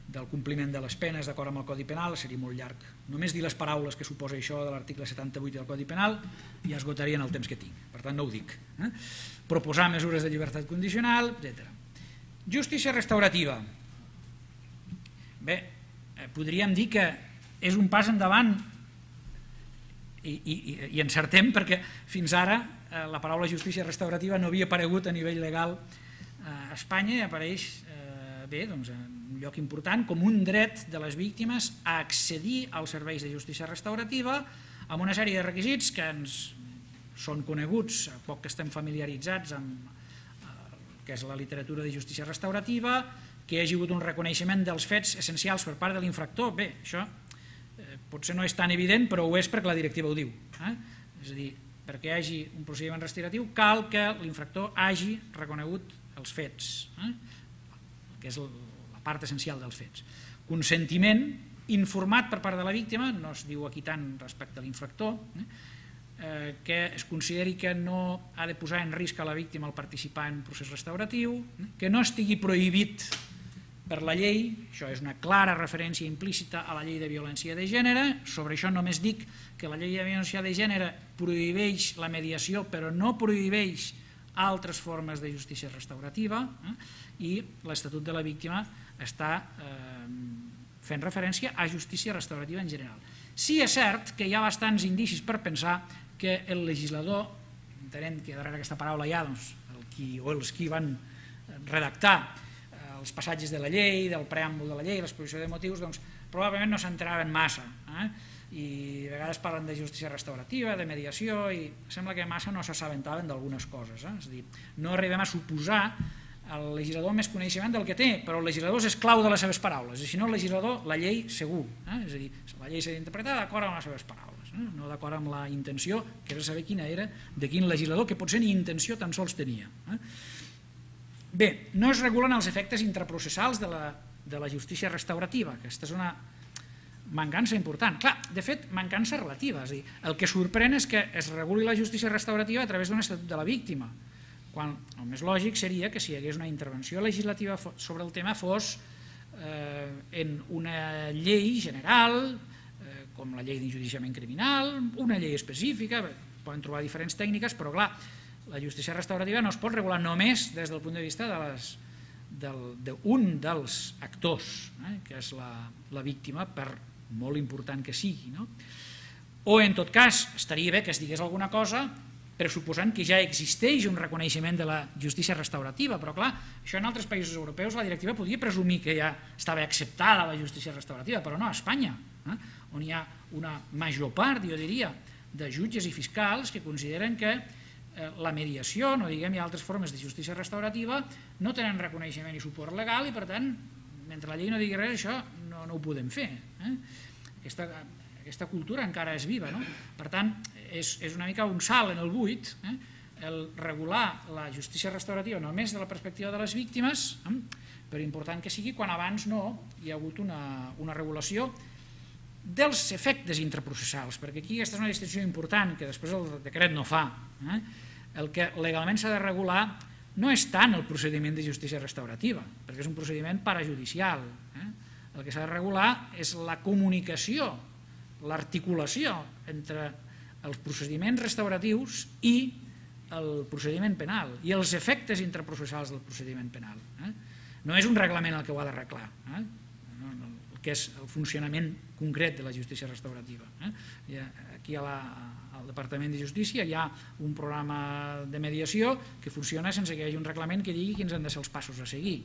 del compliment de les penes d'acord amb el Codi Penal, seria molt llarg. Només dir les paraules que suposa això de l'article setanta-vuit del Codi Penal ja esgotarien el temps que tinc, per tant no ho dic. Eh? Proposar mesures de llibertat condicional, etcètera. Justícia restaurativa. Bé, podríem dir que és un pas endavant I, i, i encertem perquè fins ara eh, la paraula justícia restaurativa no havia aparegut a nivell legal eh, a Espanya i apareix eh, bé, doncs, en un lloc important com un dret de les víctimes a accedir als serveis de justícia restaurativa amb una sèrie de requisits que ens són coneguts, a poc que estem familiaritzats amb eh, que és la literatura de justícia restaurativa, que hi hagi hagut un reconeixement dels fets essencials per part de l'infractor. Bé, això potser no és tan evident, però ho és perquè la directiva ho diu. Eh? És a dir, perquè hi hagi un procediment restauratiu cal que l'infractor hagi reconegut els fets, eh? que és la part essencial dels fets. Consentiment informat per part de la víctima, no es diu aquí tant respecte a l'infractor, eh? que es consideri que no ha de posar en risc a la víctima el participar en un procés restauratiu, eh? que no estigui prohibit per la llei, això és una clara referència implícita a la llei de violència de gènere, sobre això només dic que la llei de violència de gènere prohibeix la mediació però no prohibeix altres formes de justícia restaurativa eh? i l'Estatut de la Víctima està eh, fent referència a justícia restaurativa en general. Sí és cert que hi ha bastants indicis per pensar que el legislador, entenent que darrere aquesta paraula hi ha doncs, el o els qui van redactar els passatges de la llei, del preàmbul de la llei, l'exposició de motius, doncs probablement no s'enteraven massa, i a vegades parlen de justícia restaurativa, de mediació, i sembla que massa no s'assabentaven d'algunes coses, és a dir, no arribem a suposar al legislador més coneixement del que té, però el legislador és esclau de les seves paraules, i si no el legislador, la llei segur, és a dir, la llei s'ha d'interpretar d'acord amb les seves paraules, no d'acord amb la intenció, que és saber quina era, de quin legislador, que potser ni intenció tan sols tenia. Bé, no es regulen els efectes intraprocessals de la, de la justícia restaurativa. Aquesta és una mancança important. Clar, de fet, mancança relativa. És a dir, el que sorprèn és que es reguli la justícia restaurativa a través d'un estatut de la víctima, quan el més lògic seria que si hi hagués una intervenció legislativa sobre el tema fos eh, en una llei general, eh, com la llei d'enjudiciament criminal, una llei específica, poden trobar diferents tècniques, però clar, la justícia restaurativa no es pot regular només des del punt de vista de les, del, d'un dels actors, eh, que és la, la víctima, per molt important que sigui. No? O, en tot cas, estaria bé que es digués alguna cosa pressuposant que ja existeix un reconeixement de la justícia restaurativa, però clar, això en altres països europeus la directiva podia presumir que ja estava acceptada la justícia restaurativa, però no a Espanya, eh, on hi ha una major part, jo diria, de jutges i fiscals que consideren que la mediació, no diguem, hi ha altres formes de justícia restaurativa, no tenen reconeixement i suport legal i, per tant, mentre la llei no digui res, això no, no ho podem fer. Eh? Aquesta, aquesta cultura encara és viva. No? Per tant, és, és una mica un salt en el buit, eh? el regular la justícia restaurativa només de la perspectiva de les víctimes, eh? per important que sigui, quan abans no hi ha hagut una, una regulació dels efectes intraprocessals, perquè aquí aquesta és una distinció important que després el decret no fa. Eh? El que legalment s'ha de regular no és tant el procediment de justícia restaurativa, perquè és un procediment parajudicial. Eh? El que s'ha de regular és la comunicació, l'articulació entre els procediments restauratius i el procediment penal i els efectes intraprocessals del procediment penal. Eh? No és un reglament el que ho ha d'arreglar, eh? que és el funcionament concret de la justícia restaurativa. Aquí a la, al Departament de Justícia hi ha un programa de mediació que funciona sense que hi hagi un reglament que digui quins han de ser els passos a seguir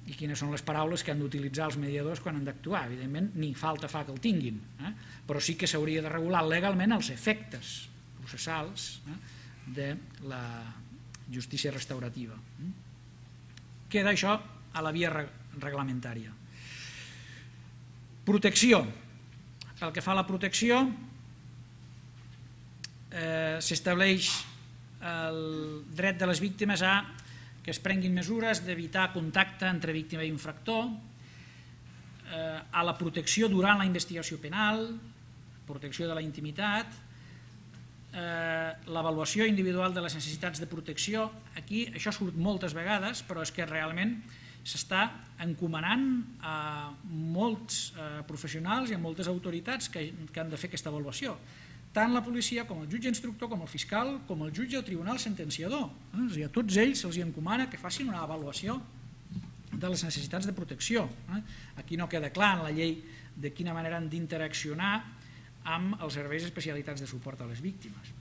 i quines són les paraules que han d'utilitzar els mediadors quan han d'actuar. Evidentment, ni falta fa que el tinguin, però sí que s'hauria de regular legalment els efectes processals de la justícia restaurativa. Queda això a la via reglamentària. Protecció. Pel que fa a la protecció, eh, s'estableix el dret de les víctimes a que es prenguin mesures d'evitar contacte entre víctima i infractor, eh, a la protecció durant la investigació penal, protecció de la intimitat, eh, l'avaluació individual de les necessitats de protecció. Aquí això surt moltes vegades, però és que realment s'està encomanant a molts professionals i a moltes autoritats que han de fer aquesta avaluació. Tant la policia com el jutge instructor, com el fiscal, com el jutge o tribunal sentenciador. A tots ells se'ls encomana que facin una avaluació de les necessitats de protecció. Aquí no queda clar en la llei de quina manera han d'interaccionar amb els serveis especialitats de suport a les víctimes.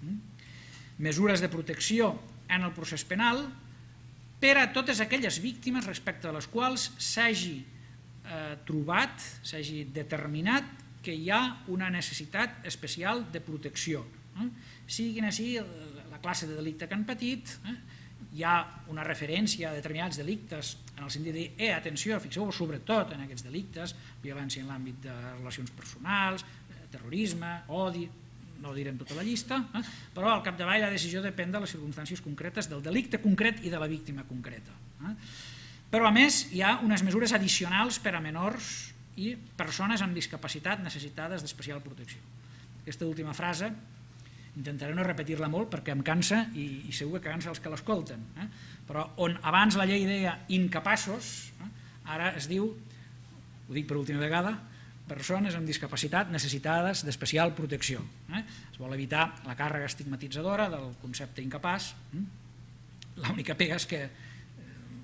Mesures de protecció en el procés penal per a totes aquelles víctimes respecte a les quals s'hagi trobat, s'hagi determinat que hi ha una necessitat especial de protecció. Sigui quina sigui la classe de delicte que han patit, hi ha una referència a determinats delictes en el sentit de dir, eh, atenció, fixeu-vos sobretot en aquests delictes, violència en l'àmbit de relacions personals, terrorisme, odi, no direm tota la llista, però al capdavall la decisió depèn de les circumstàncies concretes del delicte concret i de la víctima concreta. Però a més hi ha unes mesures addicionals per a menors i persones amb discapacitat necessitades d'especial protecció. Aquesta última frase intentaré no repetir-la molt perquè em cansa i segur que cansa els que l'escolten, però on abans la llei deia incapaços, ara es diu, ho dic per última vegada, persones amb discapacitat necessitades d'especial protecció. Es vol evitar la càrrega estigmatitzadora del concepte incapaç. L'única pega és que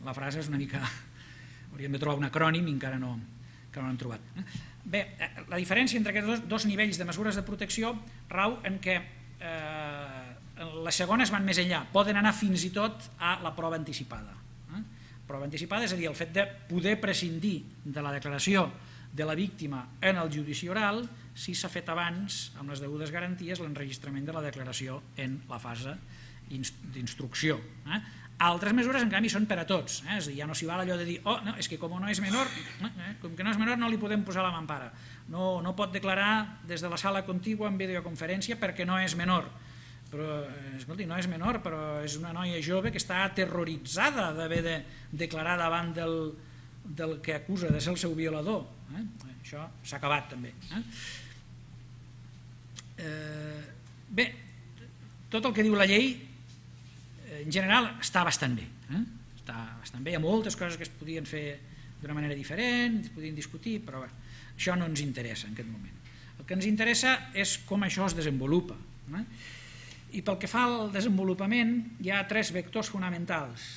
la frase és una mica... hauríem de trobar un acrònim i encara no l'hem trobat. Bé, la diferència entre aquests dos nivells de mesures de protecció rau en què les segones van més enllà, poden anar fins i tot a la prova anticipada. Prova anticipada, és a dir, el fet de poder prescindir de la declaració de la víctima en el judici oral si s'ha fet abans, amb les degudes garanties, l'enregistrament de la declaració en la fase d'instrucció. Altres mesures, en canvi, són per a tots, és a dir, ja no s'hi val allò de dir, oh, no, és que com no és menor, com que no és menor no li podem posar la mampara, no, no pot declarar des de la sala contigua en videoconferència perquè no és menor. Però, escolti, no és menor, però és una noia jove que està aterroritzada d'haver de declarar davant del, del que acusa de ser el seu violador. Eh? Això s'ha acabat també. Eh? Eh, bé, tot el que diu la llei, en general, està bastant bé. Eh? Està bastant bé, hi ha moltes coses que es podien fer d'una manera diferent, es podien discutir, però bé, això no ens interessa en aquest moment. El que ens interessa és com això es desenvolupa. Eh? I pel que fa al desenvolupament, hi ha tres vectors fonamentals,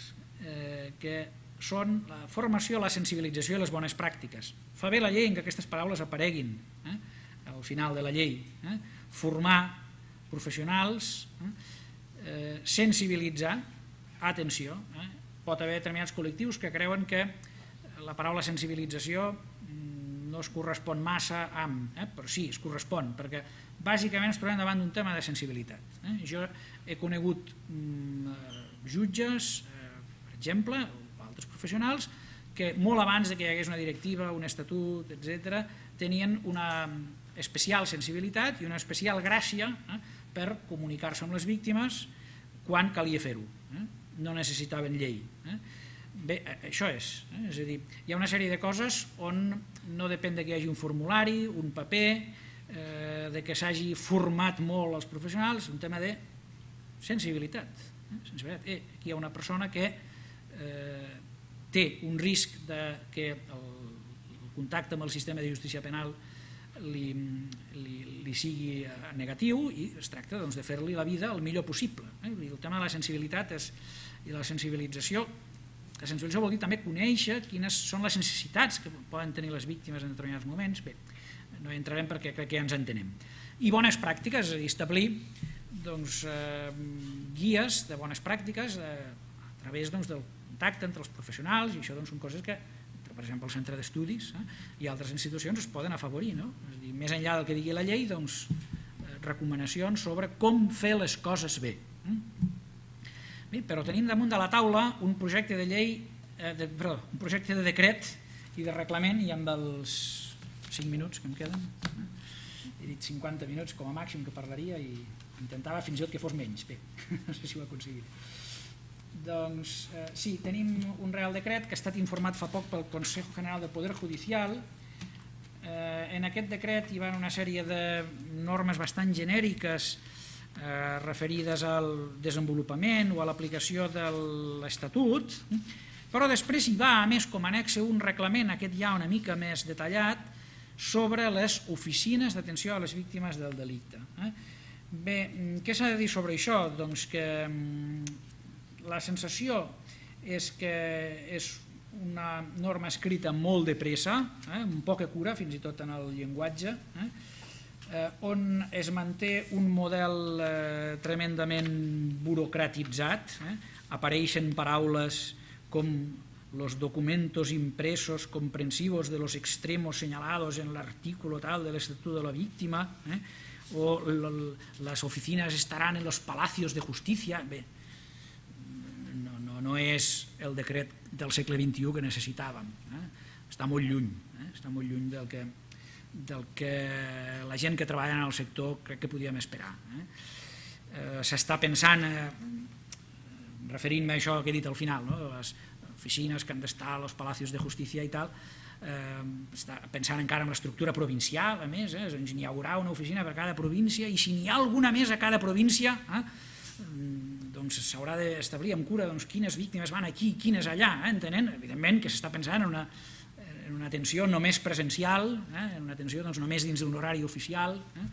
eh, que són la formació, la sensibilització i les bones pràctiques. Fa bé la llei en que aquestes paraules apareguin eh, al final de la llei. Eh? Formar professionals, eh, sensibilitzar, atenció, eh? Pot haver determinats col·lectius que creuen que la paraula sensibilització no es correspon massa amb, eh? Però sí, es correspon, perquè bàsicament ens trobem davant d'un tema de sensibilitat. Eh? Jo he conegut mm, jutges, eh, per exemple, o altres professionals, que molt abans de que hi hagués una directiva, un estatut, etcètera, tenien una especial sensibilitat i una especial gràcia eh, per comunicar-se amb les víctimes quan calia fer-ho. Eh? No necessitaven llei. Eh? Bé, això és, eh? És a dir, hi ha una sèrie de coses on no depèn que hi hagi un formulari, un paper, eh, de que s'hagi format molt els professionals, un tema de sensibilitat. Eh? sensibilitat. Eh, aquí hi ha una persona que eh, té un risc de que el, el contacte amb el sistema de justícia penal li, li, li sigui negatiu i es tracta doncs, de fer-li la vida el millor possible. Eh? El tema de la sensibilitat és, i la sensibilització La sensibilització vol dir també conèixer quines són les necessitats que poden tenir les víctimes en determinats moments. Bé, no hi entrarem perquè crec que ja ens entenem. I bones pràctiques, és a dir, establir doncs, eh, guies de bones pràctiques eh, a través doncs, del contacte entre els professionals, i això doncs, són coses que, per exemple, el centre d'estudis eh, i altres institucions es poden afavorir. No? És a dir, més enllà del que digui la llei, doncs, eh, recomanacions sobre com fer les coses bé. Eh? Bé, però tenim damunt de la taula un projecte de llei, eh, de, perdó, un projecte de decret i de reglament, i amb els cinc minuts que em queden, eh? He dit cinquanta minuts com a màxim que parlaria i intentava fins i tot que fos menys. Bé, no sé si ho he aconseguit. Doncs eh, sí, tenim un Real Decret que ha estat informat fa poc pel Consejo General del Poder Judicial. Eh, en aquest decret hi va una sèrie de normes bastant genèriques Eh, referides al desenvolupament o a l'aplicació de l'Estatut, però després hi va, a més, com a anexe un reglament, aquest ja una mica més detallat, sobre les oficines d'atenció a les víctimes del delicte. Eh? Bé, què s'ha de dir sobre això? Doncs que la sensació és que és una norma escrita molt de pressa, eh? amb poca cura, fins i tot en el llenguatge, eh? Eh, on es manté un model eh, tremendament burocratitzat. Eh? Apareixen paraules com los documentos impresos comprensivos de los extremos señalados en el artículo tal del Estatuto de la Víctima, eh? o las oficinas estarán en los palacios de justicia. Bé, no, no, no és el decret del segle vint-i-u que necessitàvem. Eh? Està molt lluny, eh? està molt lluny del que del que la gent que treballa en el sector crec que podíem esperar. Eh? Eh, S'està pensant, eh, referint-me a això que he dit al final, no? Les oficines que han d'estar als palacios de justícia i tal, eh, està pensant encara en l'estructura provincial, a més, eh? Doncs n'hi haurà una oficina per cada província, i si n'hi ha alguna més a cada província, eh? doncs s'haurà d'establir amb cura doncs, quines víctimes van aquí, quines allà, eh? Entenent, evidentment, que s'està pensant en una en una atenció només presencial, eh? en una atenció doncs, només dins d'un horari oficial. Eh?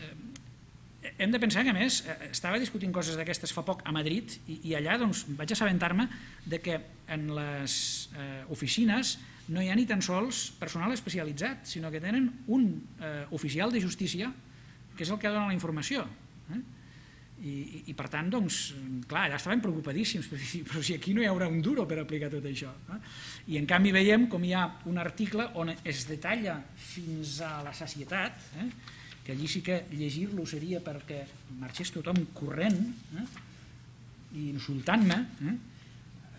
Eh, hem de pensar que, a més, eh, estava discutint coses d'aquestes fa poc a Madrid, i, i allà doncs, vaig assabentar-me de que en les eh, oficines no hi ha ni tan sols personal especialitzat, sinó que tenen un eh, oficial de justícia que és el que dona la informació. Eh? I, i per tant, doncs, clar, ja estaven preocupadíssims, però si aquí no hi haurà un duro per aplicar tot això. Eh? I en canvi veiem com hi ha un article on es detalla fins a la sacietat, eh? que allí sí que llegir-lo seria perquè marxés tothom corrent eh? i insultant-me. Eh?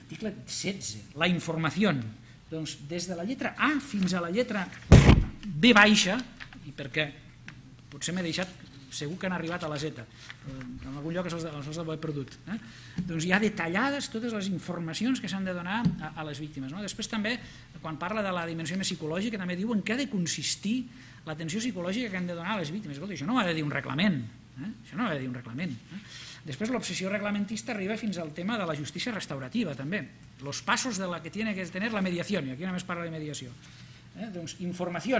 Article setze, la informació. Doncs des de la lletra A fins a la lletra B baixa, i perquè potser m'he deixat, segur que han arribat a la Z, en algun lloc els ho he perdut, eh? doncs hi ha detallades totes les informacions que s'han de donar a, a les víctimes. No? Després també, quan parla de la dimensió més psicològica, també diuen què ha de consistir l'atenció psicològica que han de donar a les víctimes. Escolta, això no ho ha de dir un reglament, eh? això no ho ha de dir un reglament. Eh? Després l'obsessió reglamentista arriba fins al tema de la justícia restaurativa, també. Los pasos de la que tiene que tener la mediación, i aquí només parla de mediació. Eh? Doncs informació.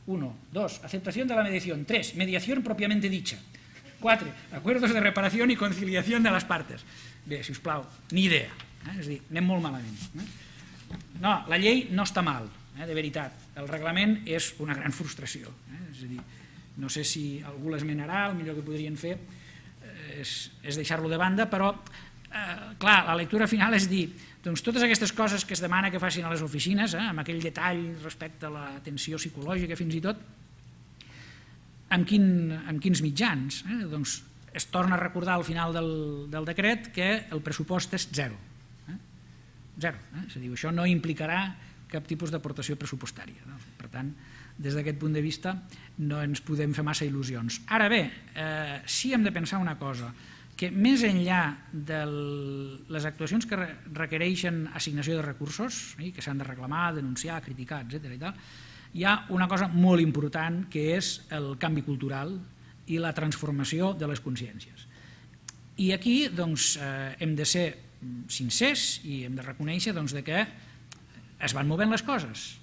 uno, dos, aceptación de la mediación. tres, mediación propiamente dicha. quatre, acuerdos de reparación y conciliación de las partes. Bé, si us plau, ni idea. Eh? És a dir, anem molt malament. Eh? No, la llei no està mal, eh? de veritat. El reglament és una gran frustració. Eh? És a dir, no sé si algú l'esmenarà, el millor que podrien fer és, és deixar-lo de banda, però, eh, clar, la lectura final és dir, doncs totes aquestes coses que es demana que facin a les oficines, eh, amb aquell detall respecte a l'atenció psicològica fins i tot, amb, quin, amb quins mitjans? Eh? Doncs es torna a recordar al final del, del decret que el pressupost és zero. Eh? Zero. Eh? És a dir, això no implicarà cap tipus d'aportació pressupostària. No? Per tant, des d'aquest punt de vista no ens podem fer massa il·lusions. Ara bé, eh, sí hem de pensar una cosa, que més enllà de les actuacions que requereixen assignació de recursos, que s'han de reclamar, denunciar, criticar, etcètera, hi ha una cosa molt important que és el canvi cultural i la transformació de les consciències. I aquí doncs, hem de ser sincers i hem de reconèixer que es van movent les coses.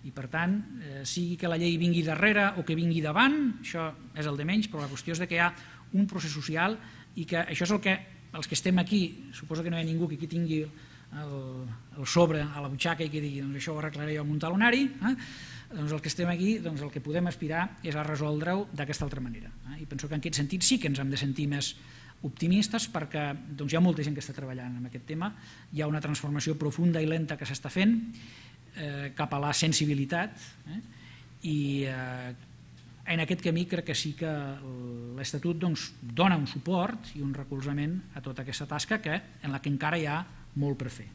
I per tant, sigui que la llei vingui darrere o que vingui davant, això és el de menys, però la qüestió és que hi ha un procés social i que això és el que els que estem aquí, suposo que no hi ha ningú que aquí tingui el, el sobre a la butxaca i que digui doncs això ho arreglaré jo amb un talonari, eh? doncs el que estem aquí, doncs el que podem aspirar és a resoldre-ho d'aquesta altra manera. Eh? I penso que en aquest sentit sí que ens hem de sentir més optimistes perquè doncs, hi ha molta gent que està treballant en aquest tema, hi ha una transformació profunda i lenta que s'està fent eh, cap a la sensibilitat eh? i eh, en aquest camí crec que sí que l'Estatut doncs, dona un suport i un recolzament a tota aquesta tasca que, en la que encara hi ha molt per fer.